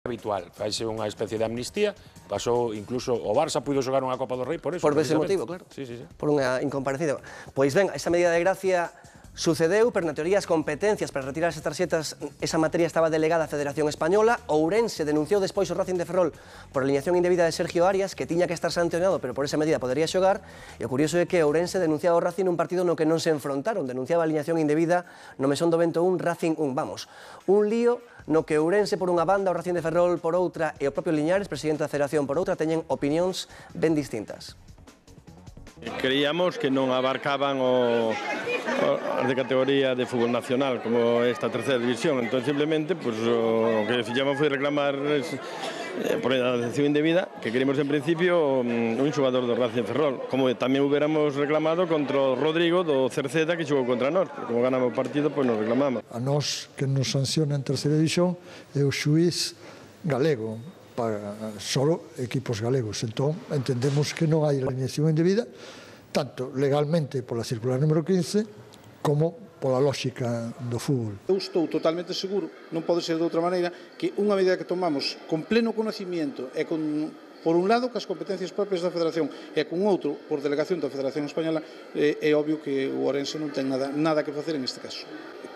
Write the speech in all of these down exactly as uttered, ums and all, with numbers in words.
habitual. Faise unha especie de amnistía, pasou incluso o Barça puido xogar unha Copa do Rei por eso. Por ese motivo, claro. Sí, sí, sí. Por unha incomparecida. Pois ben, esa medida de gracia sucedeu, pero na teoría as competencias para retirar esas tarxetas, esa materia estaba delegada á Federación Española. Ourense denunciou despois o Racing de Ferrol por alineación indebida de Sergio Arias, que tiña que estar sancionado, pero por esa medida podería xogar. E o curioso é que Ourense denunciaba o Racing nun partido no que non se enfrontaron, denunciaba a alineación indebida no Mesón do Vento un, Racing un. Vamos, un lío no que Ourense por unha banda, o Racing de Ferrol por outra e o propio Liñares, presidente da Federación, por outra, teñen opinións ben distintas. Creíamos que non abarcaban o, o, as de categoría de fútbol nacional como esta terceira división, entón simplemente pues, o que fixamos foi reclamar eh, por a detención indebida que queremos en principio un, un xogador do Racing Ferrol, como tamén hubiéramos reclamado contra o Rodrigo do Cerceda que xogou contra nós, como ganamos o partido, pois pues nos reclamamos. A nós que nos sanciona en terceira división é o xuiz galego, para solo equipos galegos. Entón, entendemos que non hai alineación indebida, tanto legalmente pola circular número quince, como pola lógica do fútbol. Eu estou totalmente seguro, non pode ser de outra maneira, que unha medida que tomamos con pleno conocimiento e con, por un lado, que as competencias propias da Federación e con outro, por delegación da Federación Española, é, é obvio que o Ourense non ten nada, nada que facer en este caso.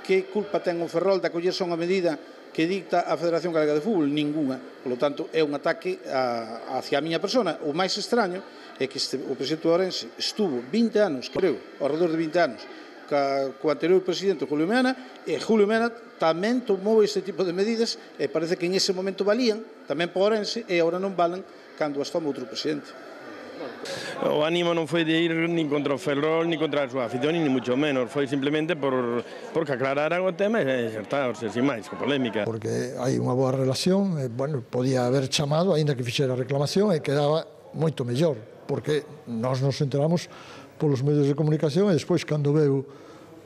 Que culpa ten o Ferrol de acollerse a unha medida que dicta a Federación Galega de Fútbol? Ninguna. Por lo tanto, é un ataque a, hacia a miña persona. O máis extraño é que este, o presidente do Ourense estuvo vinte anos, creo, ao redor de vinte anos, ca, co anterior presidente Julio Mena, e Julio Mena tamén tomou este tipo de medidas e parece que en ese momento valían tamén para o Ourense e agora non valen cando as toma outro presidente. O ánimo non foi de ir nin contra o Ferrol, nin contra a súa afición, nin mucho menos. Foi simplemente por, por que aclararan o tema e xa está, o sea, sin máis, con polémica. Porque hai unha boa relación, e, bueno, podía haber chamado, aínda que fixera reclamación, e quedaba moito mellor, porque nós nos enteramos polos medios de comunicación e despois cando veu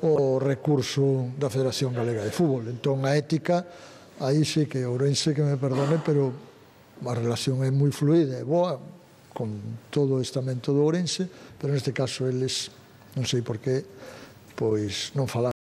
o recurso da Federación Galega de Fútbol. Entón, a ética, aí sí que Ourense que me perdone, pero a relación é moi fluida, é boa, con todo o estamento do Ourense, pero neste caso eles, non sei por qué, pois non falaron.